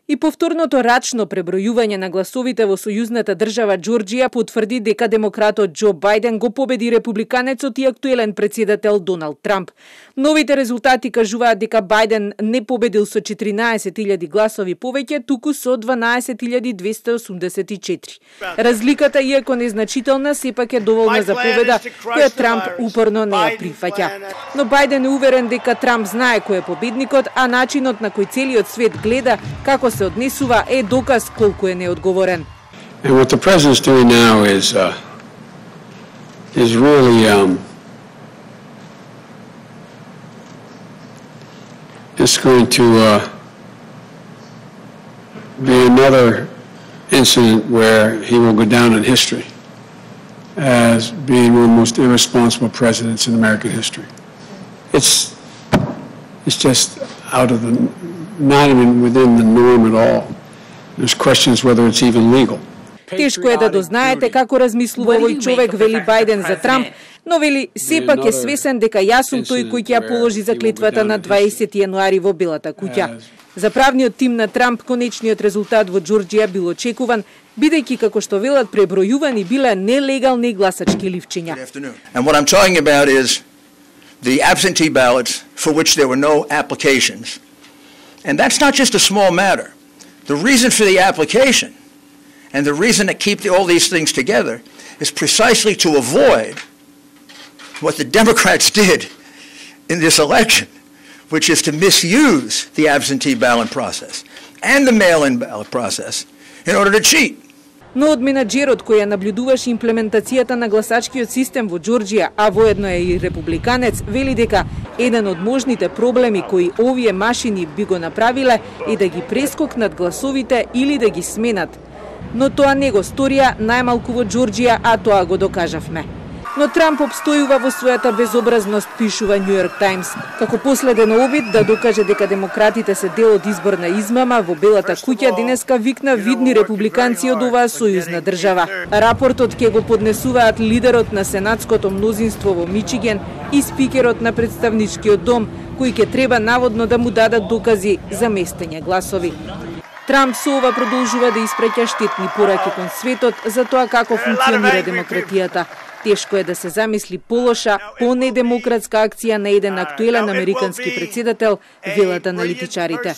И повторното рачно пребројување на гласовите во сојузната држава Џорџија потврди дека демократот Џо Бајден го победи републиканецот и актуелен претседател Доналд Трамп. Новите резултати кажуваат дека Бајден не победил со 14.000 гласови повеќе, туку со 12.284. Разликата, иако незначителна, сепак е доволна за победа која Трамп упорно не ја прифаќа. Но Бајден е уверен дека Трамп знае кој е победникот, а начинот на кој целиот свет гледа како се однесува е доказ колку е неодговорен. And what the president's doing now is really it's going to be another incident where he will go down in history as being one of the most irresponsible presidents in American history. It's just out of the, not even within the norm at all. There's questions whether it's even legal. Тешко е да дознаете како размислува овој човек, вели Бајден за Трамп, но вели сепак е свесен дека јас сум тој кој ќе ја положи заклетвата на 20 јануари во Белата куќа. За правниот тим на Трамп конечниот резултат во Џорџија бил очекуван, бидејќи како што велат пребројувани биле нелегални гласачки ливчиња. And what I'm talking about is the absentee ballots for which there were no applications. And that's not just a small matter. The reason for the application and the reason to keep all these things together is precisely to avoid what the Democrats did in this election, which is to misuse the absentee ballot process and the mail-in ballot process in order to cheat. Но од менаџерот кој ја наблюдуваше имплементацијата на гласачкиот систем во Џорџија, а воедно е и републиканец, вели дека еден од можните проблеми кои овие машини би го направиле е да ги прескокнат гласовите или да ги сменат. Но тоа не го сторија најмалку во Џорџија, а тоа го докажавме. Но Трамп обстојува во својата безобразност, пишува Нью Йорк Таймс, како последен обид да докаже дека демократите се дел од изборна измама во Белата куќа денеска викна видни републиканци од оваа сојузна држава. Рапортот ќе го поднесуваат лидерот на сенатското мнозинство во Мичиген и спикерот на представничкиот дом, кои ќе треба наводно да му дадат докази за местење гласови. Трамп со ова продолжува да испраќа штетни пораки кон светот за тоа како функционира демократијата. Тешко е да се замисли полоша, понедемократска акција на еден актуелен американски претседател, велат аналитичарите.